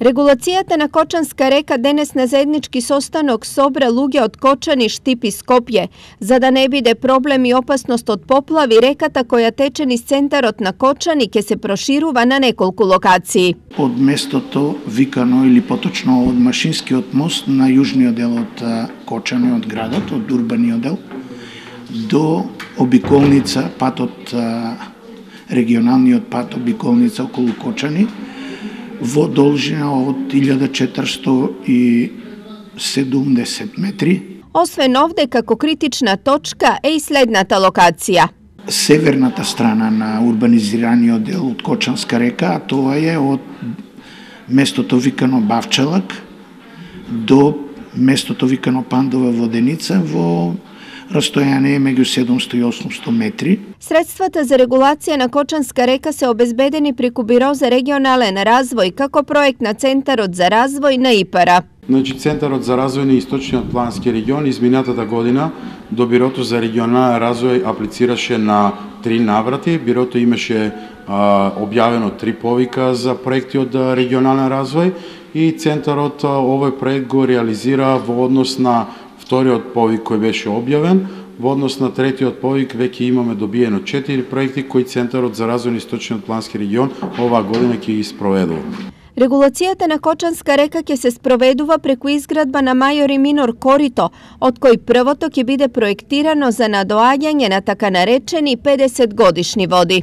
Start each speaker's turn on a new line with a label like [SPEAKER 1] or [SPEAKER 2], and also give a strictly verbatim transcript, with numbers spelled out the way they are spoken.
[SPEAKER 1] Регулацијата на Кочанска река денес на заеднички состанок собра луѓе од Кочани, Штип и Скопје. За да не биде проблем и опасност од поплави, реката која тече низ центарот на Кочани ќе се проширува на неколку локации.
[SPEAKER 2] Од местото викано или поточно од Машинскиот мост на јужниот дел од Кочани, од градот, од урбаниот дел, до обиколница, патот, регионалниот пат обиколница околу Кочани, во должина од илјада четиристотини и седумдесет метри.
[SPEAKER 1] Освен овде, како критична точка е и следната локација.
[SPEAKER 2] Северната страна на урбанизираниот дел од Кочанска река, а тоа е од местото викано Бавчалак до местото викано Пандова воденица во растојание меѓу седумсто и осумсто метри.
[SPEAKER 1] Средствата за регулација на Кочанска река се обезбедени преку Биро за регионален развој како проект на Центарот за развој на ИПАР-а.
[SPEAKER 3] Значи, Центарот за развој на Источниот плански регион изминатата година до Бирото за регионален развој аплицираше на три наврати. Бирото имаше а, објавено три повика за проекти од регионален развој и Центарот овој проект го реализира во однос на вториот повик кој беше објавен. Во однос на третиот повик веќе имаме добиено четири проекти кои Центарот за развој на Источниот плански регион оваа година ќе ги спроведува.
[SPEAKER 1] Регулацијата на Кочанска река ќе се спроведува преку изградба на Мајор и Минор корито, од кој првото ќе биде проектирано за надоаѓање на така наречени педесет годишни води.